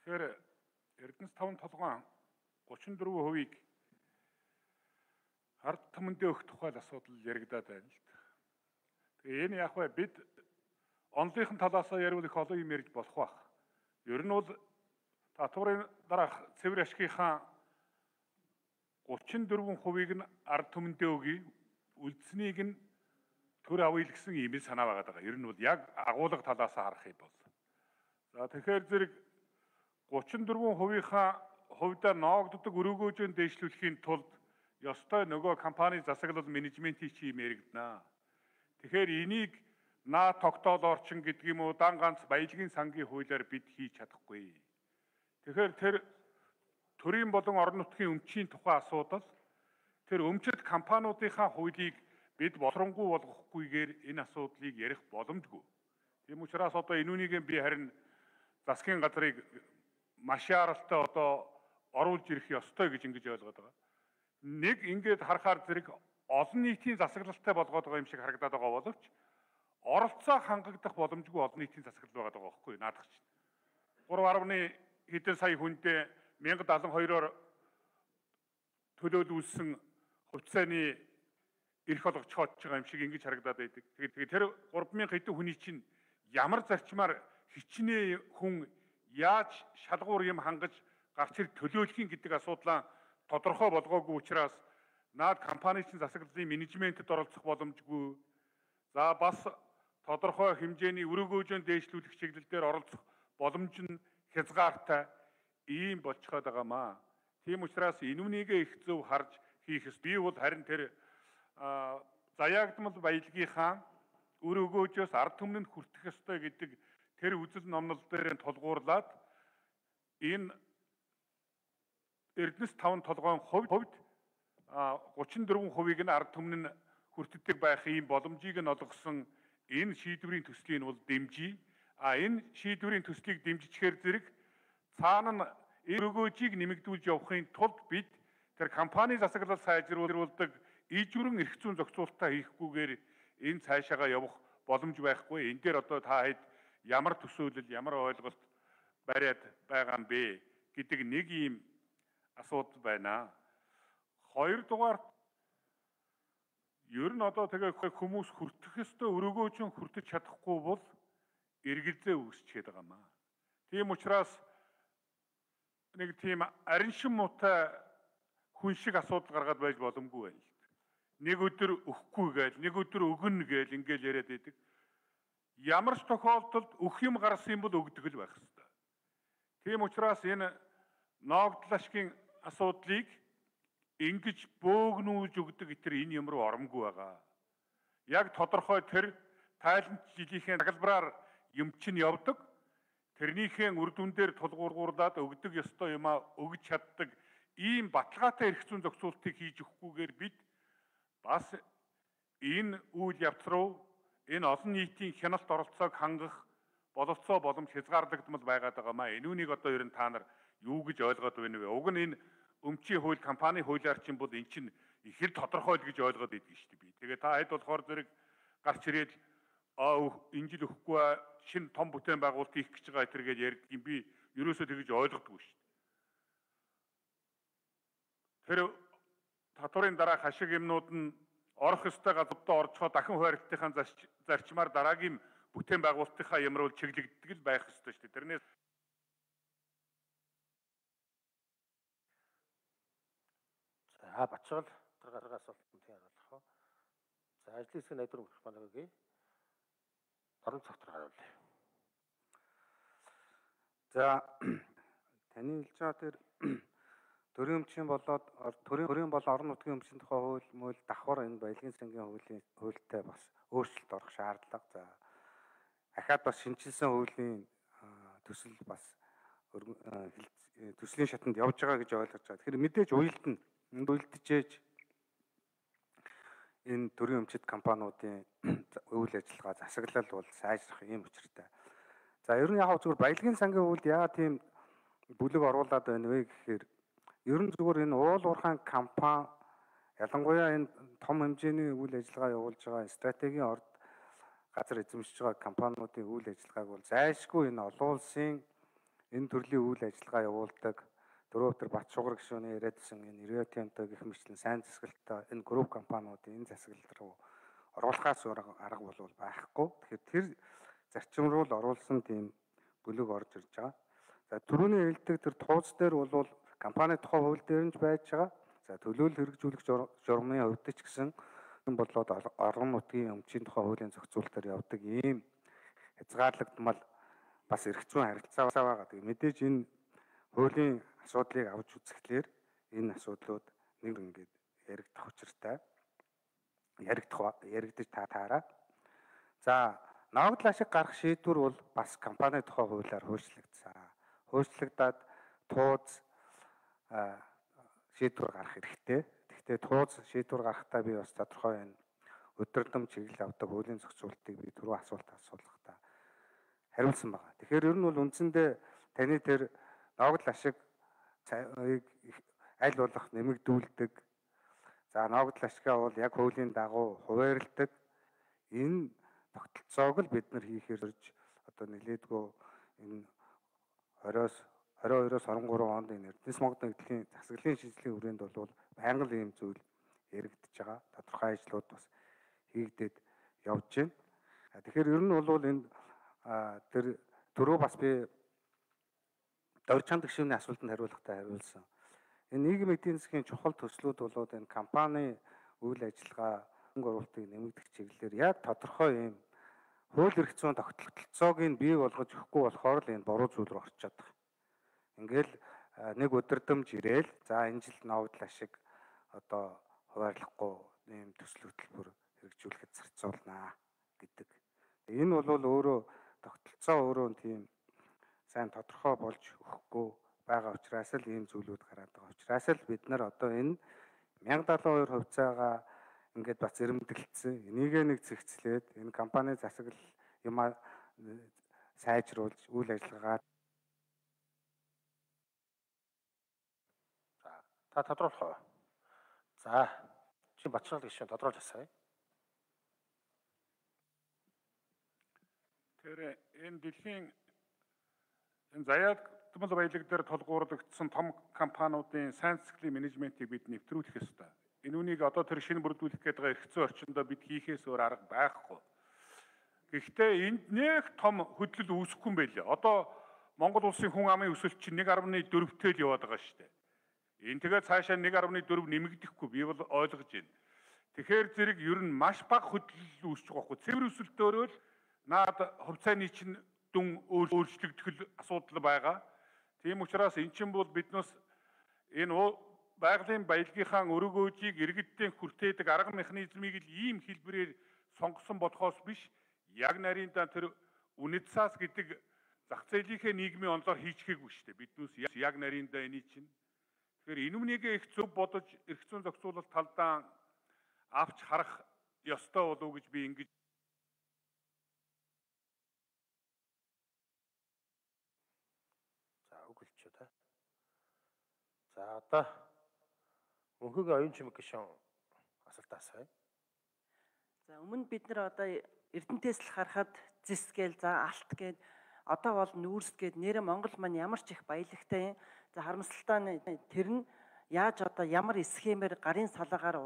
Тэгэхээр Эрдэнэс 5 толгойн 34%-ийг ард түмэндээ өгөх тухай асуудал яригадаад байна л да. Тэгээ энэ яг бид онлынхын талаасаа ярил их олон юм ярьж болох байх. Ер нь бол татварын дараах цэвэр ашигынхаа 34%-ийг нь ард түмэндээ өгье, үлдсэнийг нь төр авъя гэсэн ийм санаа байгаа даа. Ер нь бол яг агуулга талаас харах юм бол. За тэгэхээр зэрэг 34%-ийнхаа хувьдаа ноогддог өрөөгөөжөнд дэвшлүүлэхийн тулд ёстой нөгөө компани засаглал менежментийн чим яригдана. Тэгэхээр энийг наа тогтоол орчин гэдэг юм уу дан ганц баялагын сангийн хуулиар бид хийж чадахгүй. Тэгэхээр тэр төрийн болон орон нутгийн өмчийн тухай асуудал тэр өмчит компаниудынхаа хуулийг бид болонгуй болгохгүйгээр энэ асуудлыг ярих боломжгүй. Тийм учраас одоо энүүнийг би харин засгийн газрыг маш яралтай одоо оруулж ирэх ёстой гэж ингэж ойлгоод байгаа. Нэг ингэж харахаар зэрэг олон нийтийн засаглалтай болгоод байгаа юм шиг харагдаад байгаа боловч оролцоо хангагдах боломжгүй олон нийтийн засаглал байгаа байхгүй наадах чинь. 3.1 хэдэн сая хүндээ 1072-оор төлөөлүүлсэн хувьцааны эрх олгож хоодж байгаа юм шиг ингэж харагдаад байдаг. Тэгээд тэр 3000 хэдэн хүний чинь ямар зарчмаар хичнээн хүн яаж шалгуур юм хангаж гарч ирэх төлөөлөх гэдэг асуудлаа тодорхой болгоогүй учраас наад компани чинь засаглалын менежментэд оролцох боломжгүй. За бас тодорхой хэмжээний өрөөгөөжөнд дэвшлүүлэх чиглэлээр оролцох боломж нь хязгаартай ийм болчиход байгаамаа. Тийм учраас энүүнийгээ их зөв харж хийх ёстой. Би бол харин тэр заяагдмал баялагынхаа өрөөгөөжөөс ард түмэнд хүртэх ёстой гэдэг тэр үзэл номнол дээр тулгуурлаад энэ Эрдэнэс 5 толгойн хувьд 34%-ийг нь ард түмэн нь хүртдэг байх ийм боломжийг нь олгосон энэ шийдвэрийн төслийг нь бол дэмжиж, энэ шийдвэрийн төслийг дэмжихээр зэрэг цаана нь өрөөгөөжийг нэмэгдүүлж явахын тулд бид тэр компани засаглал сайжруулдаг ижвэрэн эрх зүйн зохицуулалтаа хийхгүйгээр энэ цаашаага явах боломж байхгүй. Энэ дээр одоо та хэд ямар төсөөлөл, ямар ойлголт бариад байгаа юм бэ гэдэг нэг ийм асуудал байна. Хоёрдугаар ер нь одоо тэгээ хүмүүс хүртэх ёстой өрөөгөөжөн хүртэж чадахгүй бол эргэлзээ үүсчихэд байгаа маа. Тийм учраас нэг тийм арин шин муутай хүн шиг асуудал гаргаад байж боломгүй байна л. Нэг өдөр өгөхгүй гээл, нэг өдөр өгнө гээл ингээл яриад байдаг. Ямар ч тохиолдолд өгөх юм гарсан бол өгдөг л байх ёстой. Тийм учраас энэ ноогдол ашигын асуудлыг ингэж бөөгнүүлж өгдөг гэтэр энэ юм руу оромгүй байгаа. Яг тодорхой тэр тайланч жилийнхээ тагалбараар юм чинь явдаг. Тэрнийхээ үр дүн дээр тулгуурлаад өгдөг ёстой юмаа өгж чаддаг ийм баталгаатай эрх зүйн зохицуултыг хийж өгөхгүйгээр бид бас энэ үйл явц руу энэ олон нийтийн хяналт оролцоог хангах бололцоо боломж хязгаарлагдмал байгаад байгаамаа. Энүүнийг одоо ер нь та нар юу гэж ойлгоод байна вэ? Уг нь энэ өмчийн хууль, компани хуулиар чинь бол эн чинь их л тодорхой л гэж ойлгоод байдаг шүү дээ би. Тэгээ та хэд болохоор зэрэг гарч ирээд энэ жил өгөхгүй шинэ том бүтээн байгуулалт хийх гэж байгаа тэргээд ярьдаг юм би ерөөсөө тэгэж ойлгодгүй шүү дээ. Тэр татварын дараах ашиг юмнууд нь орох ёстой газруудаа орчхоо дахин хуваарлтынхаа зарчмаар дараагийн бүтээн байгуулалтынхаа ямар бол чиглэгддэг л байх ёстой шүү дээ. Тэрнээс Батчгал дараагийн асуултанд хариулах уу? За ажлын хэсгийн найдвар өгөх манайгийн орон цогтор хариулъя. За таны хэлж байгаа тэр төрийн өмчийн болоод төрийн болон орон нутгийн өмчийн тухай хууль мөл давхар энэ баялагын сангийн хуультай бас өөрчлөлт орох шаардлага. За ахаад бас шинжилсэн хуулийн төсөл бас төслийн шатанд явж байгаа гэж ойлгож байгаа. Тэгэхээр мэдээж уялдана. Энд уялдчихэж энэ төрийн өмчит компаниудын үйл ажиллагаа засаглал бол сайжрах юм учиртай. За ер нь яг зүгээр баялагын сангийн хууль яа тийм бүлэг оруулаад байна вэ гэхээр ер нь зүгээр энэ уул уурхайн компани ялангуяа энэ том хэмжээний үйл ажиллагаа явуулж байгаа стратегийн орд газар эзэмшиж байгаа компаниудын үйл ажиллагааг бол зайлшгүй энэ олон улсын энэ төрлийн үйл ажиллагаа явуулдаг дөрөвдөр Бат Шугар гишүүний яриадсан энэ Риотенто гэх мэтлэн сайн засаглалтай энэ групп компаниудын энэ засаглал руу оруулахаас арга бол байхгүй. Тэгэхээр тэр зарчим руу л оруулсан тийм бүлэг орж ирж байгаа. За түрүүний хэлдэг тэр тууз дээр бол компани тухай хууль дээр нь байж байгаа. За төлөөлөл хэрэгжүүлэх журмын хувьд ч гэсэн энэ болоод орон нутгийн өмчийн тухай хуулийн зохицуулалтаар явдаг ийм хязгаарлагдмал бас эрх зүйн харилцаа байгаа. Тэгээ мэдээж энэ хуулийн асуудлыг авч үзэхлээр энэ асуудлууд нэг ингээд яригдах учиртай. Яригдаж таараа. За ногдол ашиг гарах шийдвэр бол бас компани тухай хуулиар хуульчлагдсан. Хуульчлагдаад тууз шийдвэр гарах хэрэгтэй. Гэхдээ тууз шийдвэр гарахдаа би бас тодорхой энэ өдөртөм чиглэл авдаг хуулийн зохицуулалтыг би түрүү асуулт асуулгахдаа хариулсан байна. Тэгэхээр ер нь бол үндсэндээ таны тэр ногдол ашиг аль болох нэмэгдүүлдэг. За ногдол ашигаа бол яг хуулийн дагуу хуваарилдаг. Энэ тогтолцоог л бид нар хийхээр одоо нэлээдгүй энэ 22-оос 23 онд энэ Эрдэнэс Монгол нэгдлийн засаглалын шинжилгээний хүрээнд бол байнга л ийм зүйл яригдж байгаа. Тодорхой ажлууд бас хийгдээд явж байна. Тэгэхээр ер нь бол энэ тэр түрүү бас би Дорж чанд гишүүний асуултанд хариулахдаа хариулсан. Энэ нийгмийн эдийн засгийн чухал төслүүд болоод энэ компани үйл ажиллагаа хөнгө оруулалтыг нэмэгдэх чиглэлээр яг тодорхой ийм хууль эрх зүйн тогтолцоог нь бий болгож өгөхгүй болохоор л энэ буруу зүйл рүү орчод байгаа. Ингээл нэг өдөрдөмж ирээл за энэ жил ногдол ашиг одоо хуваарлахгүй ийм төсөл хөтөлбөр хэрэгжүүлэхэд зарцуулнаа гэдэг. Энэ бол өөрөө тогтолцоо өөрөө тийм сайн тодорхой болж өгөхгүй байгаа учраас л ийм зүйлүүд гараад байгаа учраас л бид нар одоо энэ 1072 хувьцаагаа ингээд бас зэрэмдэглэсэн. Энийг нэг зэгцлээд энэ компани засаглал юмаа сайжруулж үйл ажиллагаа Та тодруулах уу? За, чи Батшаал гишүүн тодруулж асууя. Тэр энэ дэлхийн энэ заяатмал баялаг дээр толгуурлагдсан том компаниудын сайн засаглалын менежментийг бид нэвтрүүлэх ёстой. Энэ үнийг одоо тэр шинэ бүрдүүлэх гээд байгаа эрх зүйн орчиндөө бид хийхээс өөр арга байхгүй. Гэхдээ энд нэг том хөдлөл үүсэхгүй юм байлээ. Одоо Монгол улсын хүн амын өсөлт чинь 1.4-тэй л яваад байгаа шүү дээ. Энэ тэгээд цаашаа 1.4 нэмэгдэхгүй би бол ойлгож байна. Тэгэхээр зэрэг ер нь маш бага хөдлөл үүсэж байгаа хгүй. Цэвэр өсөлтөөрөө л наад хувьцааны чинь дүн өөрчлөгдөх асуудал байгаа. Тийм учраас эн чинь бол биднээс энэ байгалийн баялагийнхаа өргөөжийг иргэддээ хүртээдэг арга механизмыг л ийм хэлбэрээр сонгосон болохоос биш, яг нарийнда тэр үнэт цаас гэдэг зах зээлийнхээ нийгмийн онлоор хийчихээгүй шүү дээ. Биднээс яг нарийнда эний чинь. Тэгэхээр энэ үнийг их зөв бодож эрх зүйн зохицуулалт талдаа авч харах ёстой болов уу гэж би ингэж. За үгэлч та. За одоо өнхөгийн оюун чимэг гишүүн асуултаа асууя. За өмнө бид нар одоо Эрдэнэтээс л харахад зис гээл за алт гээд одоо бол нүүрс гээд нэрэ Монгол маань ямар ч их баялагтай юм. За харамсалтай нь тэр нь яаж одоо ямар схемээр гарын салаагаар